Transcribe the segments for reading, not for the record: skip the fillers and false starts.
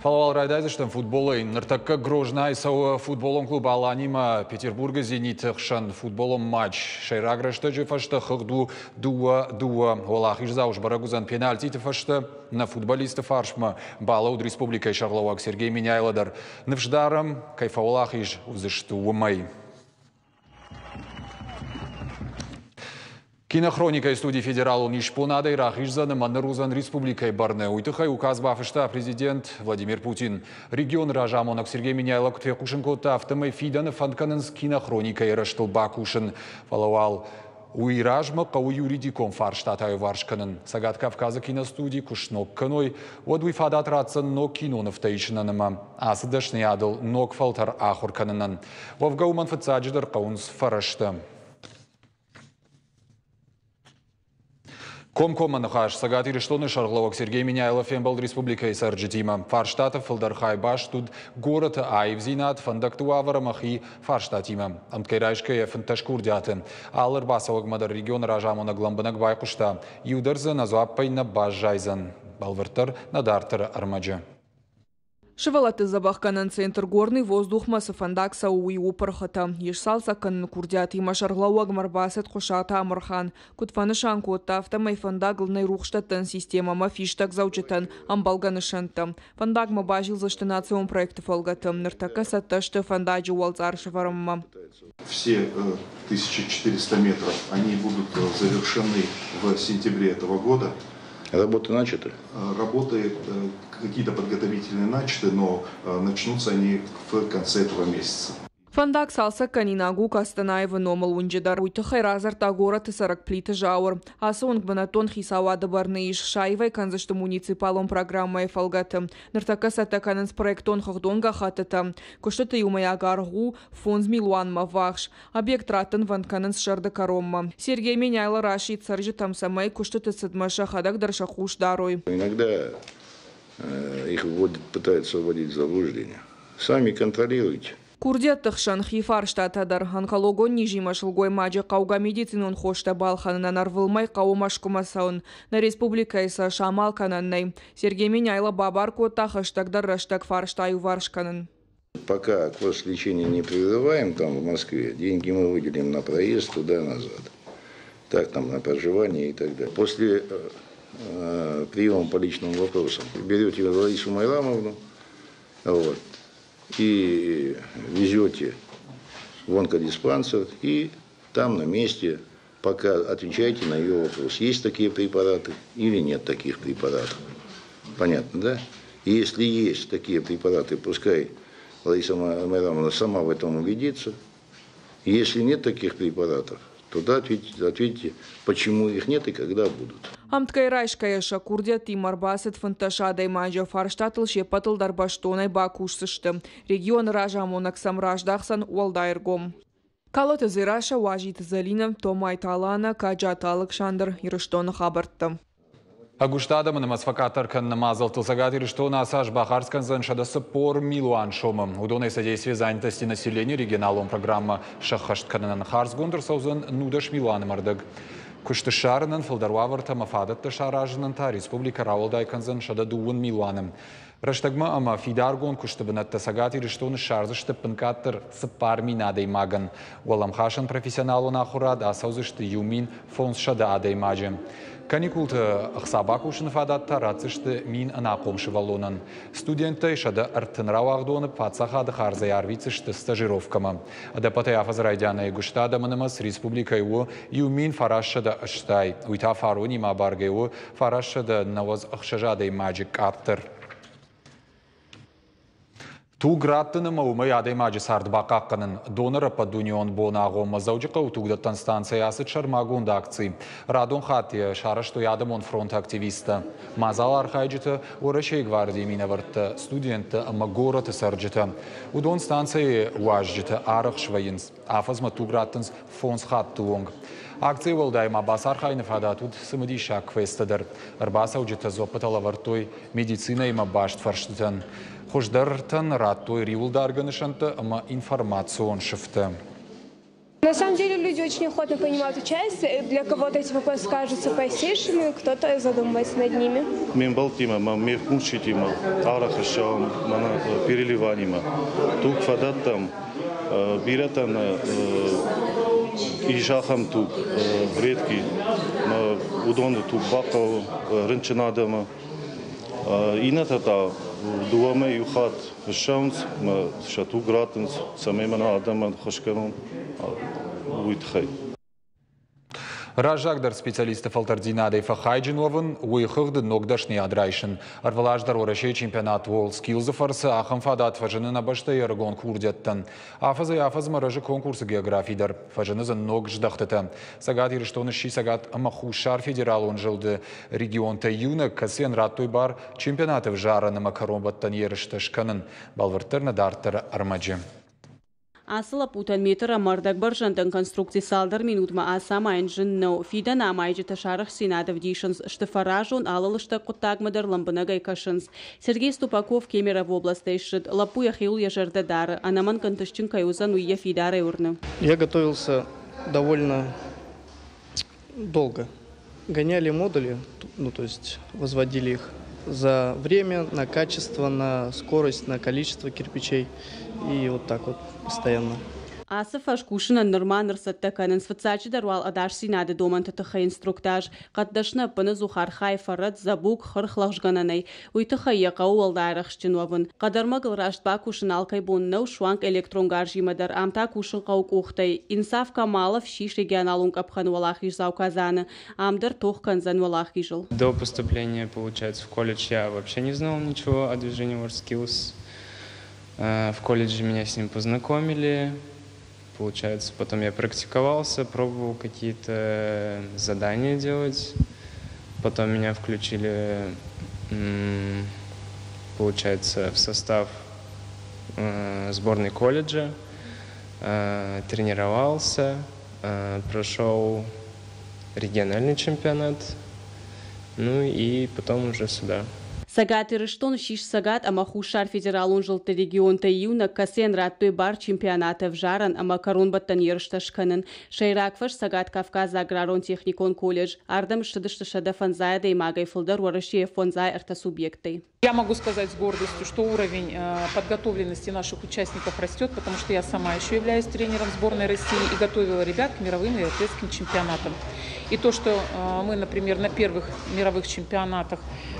Фӕлӕ уал райдайдзыстӕм футболӕй. Ныртӕккӕ Грознайы цӕуы футболон клуб Аланимӕ Петербургы «Зенит»-ы хсӕн футболон матч. Сӕйраг рӕстӕджы фӕстӕ хыгъд у 2-2. Уӕлахиздзау сбӕрӕг уыдзӕн пенальтиты фӕстӕ. Нӕ футболисты фарсмӕ балӕуд республикӕйы сӕргълӕууӕг Сергей Меняйло дӕр. Ныфс дарӕм, кӕй фӕуӕлахиз уыдзысты, уымӕй. Кинохроникӕйы студи федералон исбонадӕй рахиздзӕн ӕмӕ ныр уыдзӕн республикӕйы бӕрны. Уый тыххӕй указ бафыста президент Владимир Путин. Регионы разамонӕг Сергей Меняйло куыд фехъусын кодта, афтӕмӕй фидӕны фӕнд кӕнынц кинохроникӕйы рӕзтыл бакусын. Фӕлӕ уал уый размӕ хъӕуы юридикон фарстатӕ аиуварс кӕнын. Цӕгат Кавказы киностуди куы сног кӕной, уӕд уый фадат ратдзӕн ног кинонывтӕ исынӕн ӕмӕ ацы дӕсныйадыл ног фӕлтӕр ахуыр кӕнынӕн. Уӕвгӕ уымӕн фыццаджыдӕр хъӕуынц фӕрӕзтӕ. Комкоммӕ ныхас Цӕгат Ирыстоны сӕргълӕууӕг Сергей Меняйло фембӕлд республикӕйы цӕрджытимӕ. Фарстаты фылдӕр хай баст уыд горӕты аивдзинад, фӕндӕгты уавӕр ӕмӕ хи фарстатимӕ. Ӕмткӕй райсгӕйӕ 15 курдиаты. Алы ӕрбацӕуӕгмӕ дӕр регионы разамонӕг лӕмбынӕг байхъуыста. Иу дӕр дзы ӕнӕдзуаппӕй нӕ баззайдзӕн. Бӕлвырддӕр нӕ дарддӕры ӕрмӕджы. Сывӕллӕтты дзӕбӕхгӕнӕн центр «Горный воздух»-мӕ цы фӕндаг цӕуы, уый у пырхытӕ. Ис цалцӕг кӕныны курдиатимӕ сӕргълӕууӕгмӕ ӕрбацыд Хъуысаты Амырхан. Куыд фӕнысан кодта, афтӕмӕй фӕндагыл нӕй рухсдӕттӕн системӕ ӕмӕ фистӕгдзӕуджытӕн ӕмбӕлгӕ нысӕнттӕ. Фӕндагмӕ базилдзысты национ проекты фӕлгӕты. Ныртӕккӕ цӕттӕ сты фӕндаджы уӕлцъар сӕвӕрынмӕ. Все 1400 метров, они будут завершены в сентябре этого года. Работы начаты? Работы какие-то подготовительные начаты, но начнутся они в конце этого месяца. Фӕндаг цалцӕггӕнинаг у Кастанаевы номыл уынджы дӕр. Уый тыххӕй радзырдта горӕты цӕрӕг Плиты Зауыр. Ацы уынг бынӕттон хицауады бӕрны ис, саивӕй кӕндзысты муниципалон программӕйы фӕлгӕты. Ныртӕккӕ цӕттӕ кӕнынц проектон хыгъдон гӕххӕттытӕ. Куыстыты иумӕйаг аргъ у 5 милуанмӕ ввахс. Объект раттынвӕнд кӕнынц сӕрды кӕронмӕ. Сергей Меняйло расидт цӕрджытӕм, цӕмӕй куыстыты цыдмӕ сӕхӕдӕг дӕр сӕ хъус дарой. Иногда их вводят, пытаются вводить в заблуждение. Сами контролируйте. Курдиӕтты хсӕн хи фарстатӕ дӕр. Онкологон низимӕ сылгоймаджы хъӕугӕ медицинон хостӕ балхӕнынӕн ӕрвылмӕй хъӕуы Мӕскуымӕ цӕуын. Нӕ республикӕйы сӕ самал кӕнӕн нӕй. Сергей Меняйло бабар кодта хӕстӕгдӕр рӕстӕг фарста иуварс кӕнын. Пока курс лечения не прерываем там в Москве, деньги мы выделим на проезд туда-назад. Так там на проживание и так далее. После приема по личным вопросам берете Ларису Майрамовну, вот, и везете в онкодиспансер, и там на месте пока отвечаете на ее вопрос, есть такие препараты или нет таких препаратов. Понятно, да? И если есть такие препараты, пускай Лариса Майрамовна сама в этом убедится. Если нет таких препаратов, то ответьте, почему их нет и когда будут. Ӕмткӕй райсгӕйӕ сӕ курдиӕттимӕ ӕрбацыд 15 адӕймаджы. Фарстатыл се ппӕтыл дӕр бӕстонӕй бакусдзысты. Регионы разамонӕг сӕм раздахдзӕн уӕлдай ӕргом. Калоты Дзерассӕ, Уазиты Зӕлинӕ, Томайты Алана, Каджаты Алыксандр, Ирыстоны хабӕрттӕ. Ӕгуыст адӕмы нымӕц фӕкъаддӕр кӕныны мадзӕлттыл Цӕгат Ирыстоны ацы аз бахардз кӕндзӕн 140 милуан сомы. Уыдонӕй «Содействие занятости населения» регионалон программӕ сӕххӕст кӕнынӕн хардзгонд ӕрцӕудзӕн 19 милуаны ӕрдӕг. Куысты ссарынӕн фылдӕр уавӕртӕ ӕмӕ фадӕттӕ саразынӕн та республикӕ рауӕлдай кӕндзӕн 102 милуаны. Рӕстӕгмӕ ӕмӕ фидаргонд куысты бынӕттӕ Цӕгат Ирыстоны ссардзысты ӕппынкъаддӕр 4000 адӕймагӕн. Уӕлӕмхасӕн профессионалон ахуырад ацӕудзысты 1500 адӕймаджы. Каникулты ӕхца бакусыны фадат та ратдзысты 1000 ӕнахъом сывӕллонӕн. Студенттӕй 130 рауагъдоны паддзахады хардзӕй арвитдзысты стажировкӕмӕ. Ӕдӕппӕтӕй афӕдзы райдианӕй гуыста адӕмы нымӕц республикӕйы у 1980. Уый та фаронимӕ абаргӕ у 996 адӕймаджы къаддӕр. Туг раттын ӕмӕ уымӕй адӕймаджы цард бахъахъхъӕнын. Донор ӕппӕтдунеон боны агъоммӕ Дзӕуджыхъӕуы тугдӕттӕн станцӕйы ацыд сӕрмагонд акци. Радон хатт йӕ сарӕзтой адӕмон фронты активисттӕ. Мадзалы архайджытӕ, Уӕрӕсейы гвардийы минӕвӕрттӕ, студенттӕ ӕмӕ горӕты цӕрджытӕ. Уыдон станцӕйы уазджытӕ арӕх свӕййынц. Афӕдзмӕ туг раттынц фондз хатты онг. Акцийы уӕлдай ма бацархайыны фадат уыд цымыдисаг квесттӕ дӕр. Ӕрбацӕуджытӕ дзуӕппытӕ лӕвӕрдтой медицинӕимӕ баст фӕрстытӕн. Хуыздӕртӕн радтой риуылдаргӕ нысӕнттӕ ӕмӕ информацион сыфтӕ. На самом деле люди очень охотно принимают участие. Для кого-то эти вопросы кажутся простейшими, кто-то задумывается над ними. Ме мбӕлттимӕ ӕмӕ ме мкусджытимӕ арӕх ссӕуӕм мӕнӕ переливанимӕ. Туг фӕдӕттӕм, бирӕтӕн ис ахӕм туг, редкий, уыдоны туг бахъӕуы рынчын адӕмы. Иннӕтӕ та дыууӕмӕ иу хатт ссӕуынц ӕмӕ сӕ туг раттынц, цӕмӕй мӕнӕ адӕмӕн ӕххуыс кӕнон, уый тыххӕй. Раззагдӕр специалистты фӕлтӕрддзинадӕй фӕхайджын уӕвын, уый хыгъды ног дӕсныйад райсын. Ӕрвылаз дӕр Уӕрӕсейы чемпионат WorldSkills-ы фӕрцы ахӕм фадат фӕзыны нӕ бӕстӕйы ӕрыгон курдиӕттӕн. Афӕдзӕй-афӕдзмӕ рӕзы конкурсы географи дӕр, фӕзыны дзы ног здӕхтытӕ. Цӕгат Ирыстоны сси Цӕгат ӕмӕ Хуссар федералон зылды регионтӕй иунӕг, кӕцыйӕн радтой бар чемпионаты ӕвзарӕн ӕмӕ кӕронбӕттӕн ерыстӕ скӕнын. Бӕлвырддӕр нӕ дарддӕры ӕрмӕджы. Ацы лӕппутӕн метр ӕмӕ ӕрдӕг бӕрзӕндӕн конструкци цалдӕр минутмӕ ацамайын зын нӕу. Фидӕны амайджытӕ сарӕхстдзинад ӕвдисынц, сты фӕразон, алы лыстӕг хъуыддагмӕ дӕр лӕмбынӕгӕй кӕсынц. Сергей Ступаков Кемерово областӕй ссыд. Лӕппу йӕхиуыл йӕ зӕрдӕ дары. Ӕнӕмӕнг ӕнтыстджын кӕй уыдзӕн, уый йӕ фидарӕй уырны. Я готовился довольно долго. Гоняли модули, ну то есть возводили их за время, на качество, на скорость, на количество кирпичей. И вот так вот постоянно. Ацы фӕз кусынӕн нырма ныр цӕттӕ кӕнынц. Фыццаджыдӕр уал ӕдасдзинады домӕнты тыххӕй инструктаж. Хъӕддӕсны ӕппынӕдзух архайы фӕрӕт, дзӕбуг, хырх лӕгъзгӕнӕнӕй. Уый тыххӕй йӕ хъӕуы уӕлдай арӕхстджын уӕвын. Хъӕдӕрмӕгыл раст бакусын алкӕй бон нӕу, суанг электрон гарзимӕ дӕр. Ам та кусын хъӕуы къухтӕй. Инсаф Камалов ссис регионалон къӕпхӕны уӕлахиздзау Казаны. Ам дӕр тох кӕндзӕн уӕлахизыл. До поступления, получается, в колледж я вообще не знал ничего о движении WorldSkills. В колледже меня с ним познакомили. Получается, потом я практиковался, пробовал какие-то задания делать. Потом меня включили, получается, в состав сборной колледжа. Тренировался, прошел региональный чемпионат, ну и потом уже сюда. Цӕгат Ирыстон ссис Цӕгат ӕмӕ Хуссар федералон зылдты регионтӕй иунӕг, кӕцыйӕн радтой бар чемпионаты ӕвзарӕн ӕмӕ кӕронбӕттӕн ерыстӕ скӕнын. Сӕйраг фӕз Цӕгат-Кавказы аграрон-техникон колледж. Ардӕм ссыдысты 150 адӕймагӕй фылдӕр Уӕрӕсейы 53 субъектӕй. Я могу сказать с гордостью, что уровень подготовленности наших участников растет, потому что я сама еще являюсь тренером сборной России и готовила ребят к мировым и европейским чемпионатам. И то, что мы, например, на первых мировых чемпионатах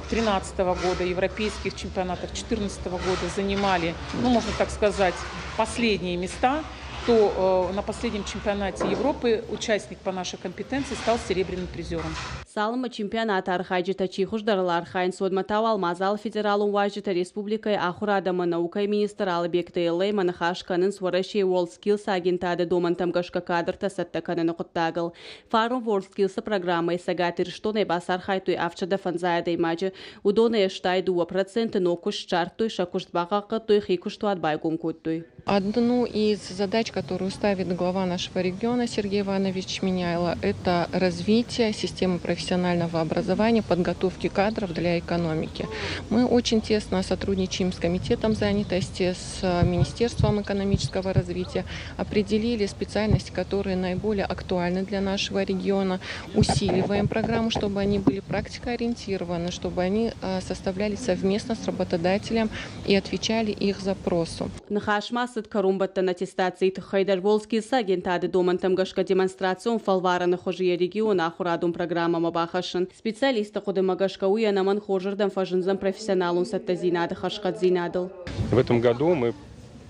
2013 года, европейских чемпионатах 2014 года занимали, ну, можно так сказать, последние места, то на последнем чемпионате Европы участник по нашей компетенции стал серебряным призером. Цалынмӕ чемпионаты архайджытӕ чи хуыздӕрыл архайынц, уӕдмӕ та уал мадзалы федералон уазджытӕ республикӕйы ахуырад ӕмӕ наукӕйы министр Алыбегты Эллӕимӕ ныхас кӕнынц Уӕрӕсейы WorldSkills агентады домӕнтӕм гӕсгӕ кадртӕ цӕттӕ кӕныны хъуыддагыл. Фарон WorldSkills-ы программӕйы Цӕгат Ирыстонӕй бацархайдтой 750 адӕймаджы. Уыдонӕй 82% ног куыст ссардтой, сӕ куыст бахъахъхъӕдтой, хи куыстуат байгом кодтой. Одну из задач, которую ставит глава нашего региона Сергей Иванович Меняйло, это развитие системы профессионального образования, подготовки кадров для экономики. Мы очень тесно сотрудничаем с Комитетом занятости, с Министерством экономического развития, определили специальности, которые наиболее актуальны для нашего региона, усиливаем программу, чтобы они были практикоориентированы, чтобы они составлялись совместно с работодателем и отвечали их запросу. Ныхас ма цыд кӕронбӕттӕн аттестацийы тыххӕй дӕр. WorldSkills агентады домӕнтӕм гӕсгӕ демонстрацион фӕлварӕны хуызы йӕ регионы ахуырадон программӕмӕ бахӕссын. Специалистты хъуыдымӕ гӕсгӕ уый ӕнӕмӕнг хорзырдӕм фӕзындзӕн профессионалон цӕттӕдзинады хӕрзхъӕддзинадыл. В этом году мы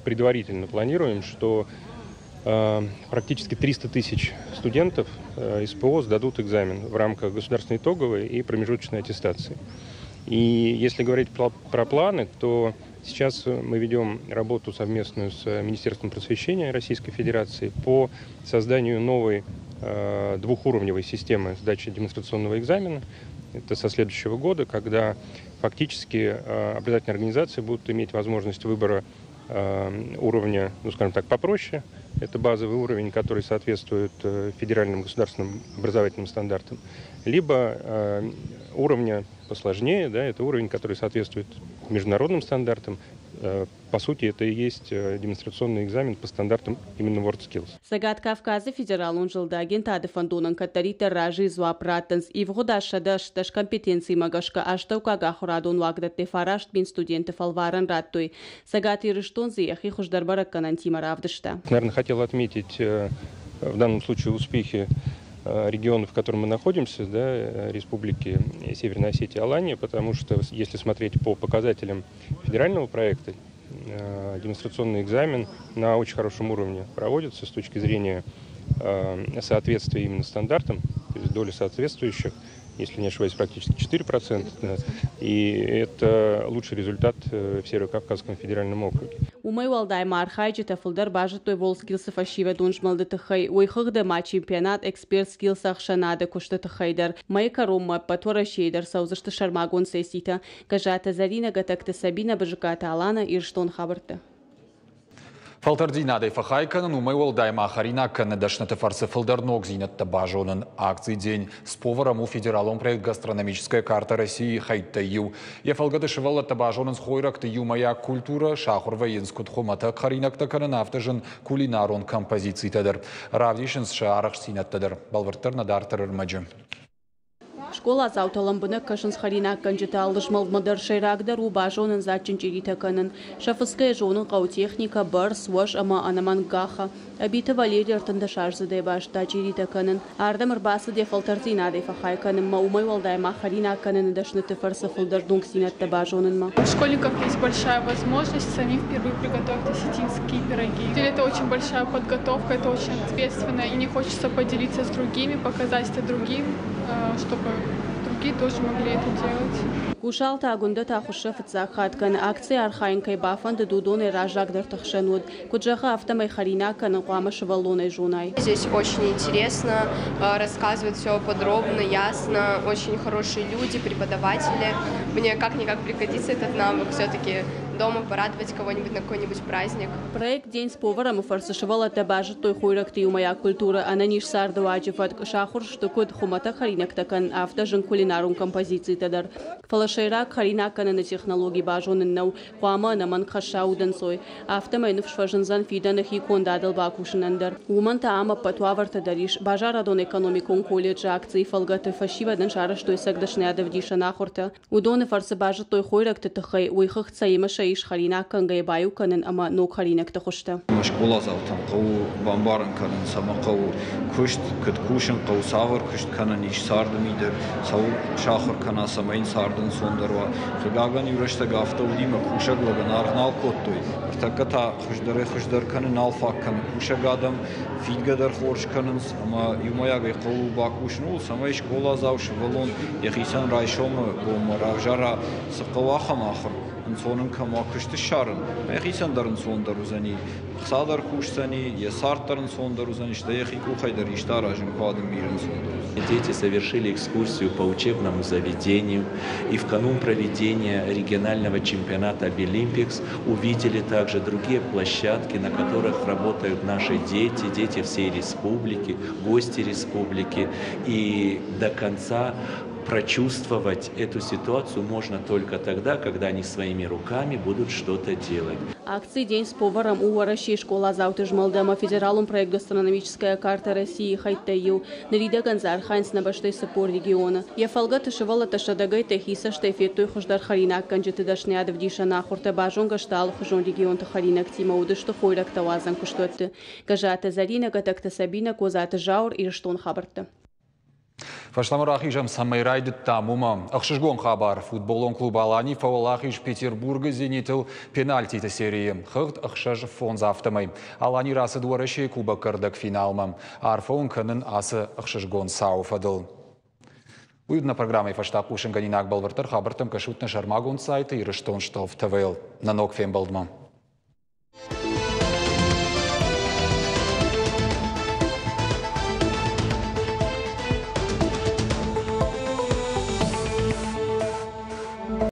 предварительно планируем, что практически 300 тысяч студентов СПО сдадут экзамен в рамках государственной итоговой и промежуточной аттестации. И если говорить про планы, то сейчас мы ведем работу совместную с Министерством просвещения Российской Федерации по созданию новой двухуровневой системы сдачи демонстрационного экзамена. Это со следующего года, когда фактически образовательные организации будут иметь возможность выбора уровня, ну, скажем так, попроще. Это базовый уровень, который соответствует федеральным государственным образовательным стандартам. Либо уровня посложнее, да, это уровень, который соответствует международным стандартам. По сути, это и есть демонстрационный экзамен по стандартам именно WorldSkills. Цӕгат Кавказы федералон зылды агентады фӕндонӕн кӕддӕриддӕр разыйы дзуапп раттынц. Ивгъуыд аз 118 компетенцимӕ гӕсгӕ астӕуккаг ахуырадон уагдӕттӕй 9000 студенты фӕлварӕн радтой. Цӕгат Ирыстон дзы йӕхи хуыздӕр бӕрӕггӕнӕнтимӕ равдыста. Наверное, хотел отметить в данном случае успехи региона, в котором мы находимся, да, Республики Северная Осетия Алания, потому что если смотреть по показателям федерального проекта, демонстрационный экзамен на очень хорошем уровне проводится с точки зрения соответствия именно стандартам, то есть доля соответствующих, если не ошибаюсь, практически 4%, да, и это лучший результат в Северо-Кавказском федеральном округе. Уымӕй уӕлдай ма архайджытӕ фылдӕр базыдтой WorldSkills-ы фӕсивӕдон змӕлды тыххӕй, уый хыгъды ма чемпионат Expert Skills ӕхсӕнады куысты тыххӕй дӕр. Мӕйы кӕронмӕ ӕппӕт Уӕрӕсейы дӕр цӕудзысты сӕрмагонд сесситӕ. Гӕззаты Зӕринӕ, Гӕтӕгты Сабинӕ, Бызыкаты Алана, Ирыстон хабӕрттӕ. Фӕлтӕрддзинадӕй фӕхай кӕнын, уымӕй уӕлдай ма хӕринаг кӕныны дӕсныты фӕрцы фылдӕр ногдзинӕдтӕ базонын. Акци «День с поваром» у федералон проект «Гастрономическая карта России» хӕйттӕй иу. Йӕ фӕлгӕты сывӕллӕттӕ базонынц хойрӕгты иумӕйаг культурӕ, сахуыр вӕййынц куыд хуымӕтӕг хӕринӕгтӕ кӕнын, афтӕ зын кулинарон композицитӕ дӕр. Равдисынц сӕ арӕхстдзинӕдтӕ дӕр. Бӕлвырддӕр нӕ дарддӕр ӕрмӕджы. Скъоладзаутӕ лӕмбынӕг кӕсынц хӕринаггӕнджыты алы змӕлдмӕ дӕр. Сӕйрагдӕр у базонын дзаджджын чъиритӕ кӕнын. Сӕ фыцгӕйӕ зонын хъӕуы техникӕ, бӕрц, уӕз ӕмӕ ӕнӕмӕнг гахӕ. Ӕбиты Валерий 13-аздзыдӕй базыдта чъиритӕ кӕнын. Ардӕм ӕрбацыд йӕ фӕлтӕрддзинадӕй фӕхай кӕнынмӕ, уымӕй уӕлдай ма хӕринаг кӕныны дӕсныты фӕрцы фылдӕр ногдзинӕдтӕ базонынмӕ. У школьников есть большая возможность самим впервые приготовить осетинские пироги. Это очень большая подготовка, это очень ответственно, и не хочется поделиться с другими, показать это другим, чтобы другие тоже могли это делать. Гусалты Агуындӕ та хуыссӕ фыццаг хатт кӕны. Акцийы архайын кӕй бафӕндыд, уыдонӕй раззагдӕрты хсӕн уыд. Куыд зӕгъы, афтӕмӕй хӕринаг кӕнын хъуамӕ сывӕллонӕй зонай. Здесь очень интересно, рассказывают все подробно, ясно, очень хорошие люди, преподаватели. Мне как-никак пригодится этот навык все-таки дома порадовать кого-нибудь на какой-нибудь праздник. Проект «День с поваром» фӕрцы сывӕллӕттӕ базыдтой хойрӕгты иумӕйаг культурӕ, ӕнӕниз цардыуаджы фӕтк, сахуыр сты куыд хуымӕтӕг хӕринӕгтӕ кӕнын, афтӕ зын кулинарон композицитӕ дӕр. Фӕлӕ сӕйраг хӕринаг кӕныны технологи базонын нӕу, хъуамӕ ӕнӕмӕнг хӕсса удӕнцой. Афтӕмӕй ныфс фӕзындзӕн фидӕны хи кондадыл бакусынӕн дӕр. Уымӕн та ам ӕппӕт уавӕртӕ дӕр ис. Базарадон-экономикон колледжы акцийы фӕлгӕты фӕсивӕдӕн сарӕзтой цӕг дӕсныйадӕвдисӕн ахуыртӕ. Уыдоны фӕрцы базыдтой хойрӕгты тыххӕй, уый хыгъд цӕимӕ сӕ ис хӕринаг кӕнгӕйӕ баиу кӕнын ӕмӕ ног хӕринӕгты хуызтӕ. Скъоладзаутӕн хъӕуы бамбарын кӕнын, цӕмӕ хъӕуы куыст, куыд кусын хъӕуы, цавӕр куыст кӕнӕн ис царды мидӕг, цӕуыл сахуыр кӕна, цӕмӕй йын царды ӕнцондӕр уа. Хъыгагӕн, иу рӕстӕг афтӕ уыди, ӕмӕ кусӕг лӕгӕн аргъ нал кодтой. Ныртӕккӕ та хуыздӕрӕй-хуыздӕр кӕны, нал фаг кӕны кусӕг адӕм, фидгӕ дӕр хорз кӕнынц ӕмӕ иумӕйагӕй хъӕуы бакусын ууыл, цӕмӕй скъоладзау сывӕллон йӕхицӕн райсомы бонмӕ равзара, цы хъӕуы, ахӕм ахуыр, ӕнцон ын кӕм уа куыст ссарын, йӕхицӕн дӕр ӕнцондӕр уыдзӕни, ӕхца дӕр кусдзӕни, йӕ цард дӕр ӕнцондӕр уыдзӕни, стӕй йӕхи къухӕй дӕр исты аразын куы адӕм бирӕ ӕнцондӕр уыдзӕни. Дети совершили экскурсию по учебному заведению и в канун проведения регионального чемпионата «Абилимпикс» увидели также другие площадки, на которых работают наши дети, дети всей республики, гости республики. И до конца прочувствовать эту ситуацию можно только тогда, когда они своими руками будут что-то делать. Акци «День с поваром» у Уӕрӕсейы скъоладзауты змӕлды ӕмӕ федералон проект «Гастрономическая карта России» хӕйттӕй иу. Ныридӕгӕн дзы архайынц нӕ бӕстӕйы 40 регионы. Йӕ фӕлгӕты сывӕллӕттӕ сӕдӕгӕйттӕй хи цӕстӕй федтой хуыздӕр хӕринаггӕнджыты дӕсныйадӕвдисӕн ахуыртӕ, базонгӕ сты алыхуызон регионты хӕринӕгтимӕ, уыдысты хойрӕгтӕ уадзӕн куыстуӕтты. Гӕззаты Зӕринӕ, Гӕтӕгты Сабинӕ, Козаты Зауыр, Ирыстон хабӕрттӕ. Фӕстӕмӕ рахизӕм, цӕмӕй райдыдтам, уымӕ. Ӕхсызгон хабар: футболон клуб «Алани» фӕуӕлахиз Петербургы «Зенитыл» пенальтиты серийы. Хыгъд 6-5 афтӕмӕй. «Алани» рацыд Уӕрӕсейы Кубокы ӕрдӕгфиналмӕ. Арфӕ уын кӕнын ацы ӕхсызгон цауы фӕдыл. Уый уыд нӕ программӕйы фӕстаг хъусынгӕнинаг. Бӕлвырддӕр хабӕрттӕм кӕсут нӕ сӕрмагонд сайты Ирыстон Штолф ТВ-йыл. Нӕ ног фембӕлдмӕ.